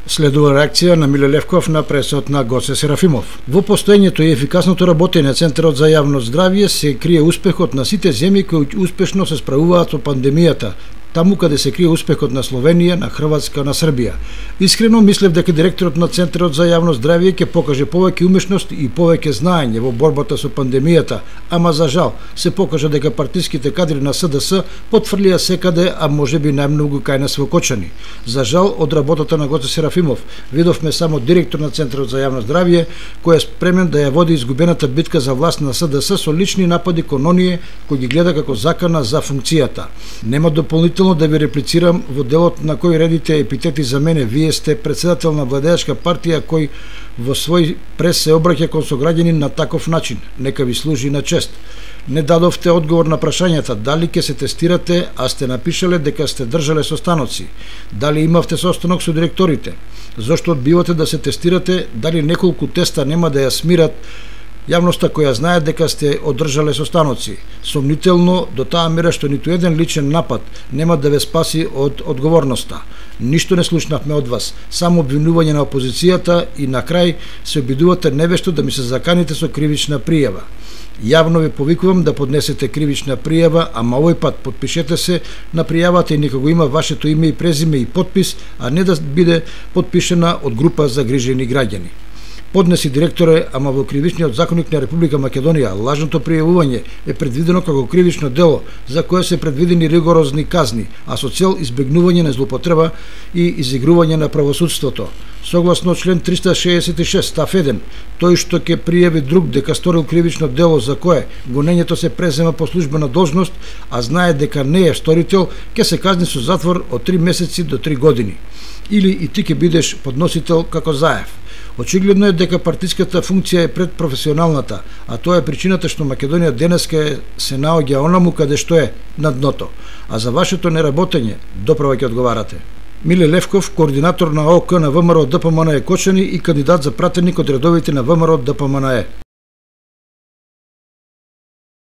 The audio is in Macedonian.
Следува реакција на Миле Левков на пресот на Гоце Серафимов. Во постоењето и ефикасното работење на Центарот за јавно здравје се крие успехот на сите земји кои успешно се справуваат со пандемијата, таму каде се крие успехот на Словенија, на Хрватска, на Србија. Искрено мислев дека директорот на Центарот за јавно здравје ќе покаже повеќе умешност и повеќе знаење во борбата со пандемијата, ама за жал се покажа дека партиските кадри на СДС потфрлија секаде, а можеби најмногу кај нас во Кочани. За жал од работата на Гоце Серафимов видовме само директор на Центарот за јавно здравје кој е спремен да ја води изгубената битка за власт на СДС со лични напади кон оние кои ги гледа како закана за функцијата. Нема дополнително да ви реплицирам во делот на кој редите епитети за мене. Вие сте председател на владеачка партија кој во свој прес се обраќа кон сограѓани на таков начин. Нека ви служи на чест. Не дадовте одговор на прашањата дали ќе се тестирате, а сте напишале дека сте држале состаноци. Дали имавте состанок со директорите? Зошто одбивате да се тестирате? Дали неколку теста нема да ја смират јавноста која знае дека сте одржале состаноци? Сомнително до таа мера што ниту еден личен напад нема да ве спаси од одговорноста. Ништо не слушнавме од вас, само обвинување на опозицијата и на крај се обидувате невешто да ми се заканите со кривична пријава. Јавно ви повикувам да поднесете кривична пријава, ама овој пат подпишете се на пријавата и нека го има вашето име и презиме и подпис, а не да биде подпишена од група загрижени граѓани. Поднеси директоре, ама во кривичниот законник на Република Македонија лажното пријавување е предвидено како кривично дело за кое се предвидени ригорозни казни, а со цел избегнување на злоупотреба и изигрување на правосудството. Согласно член 366 став 1, тој што ќе пријави друг дека сторил кривично дело за кое гонењето се презема по службена должност, а знае дека не е сторител, ќе се казни со затвор од 3 месеци до 3 години. Или и ти ќе бидеш подносител како Заев. Очигледно е дека партиската функција е пред професионалната, а тоа е причината што Македонија денеска се наоѓа онаму каде што е на дното. А за вашето неработење доправа ќе одговарате. Миле Левков, координатор на ОК на ВМРО ДПМНЕ Кочани и кандидат за пратеник од редовите на ВМРО ДПМНЕ.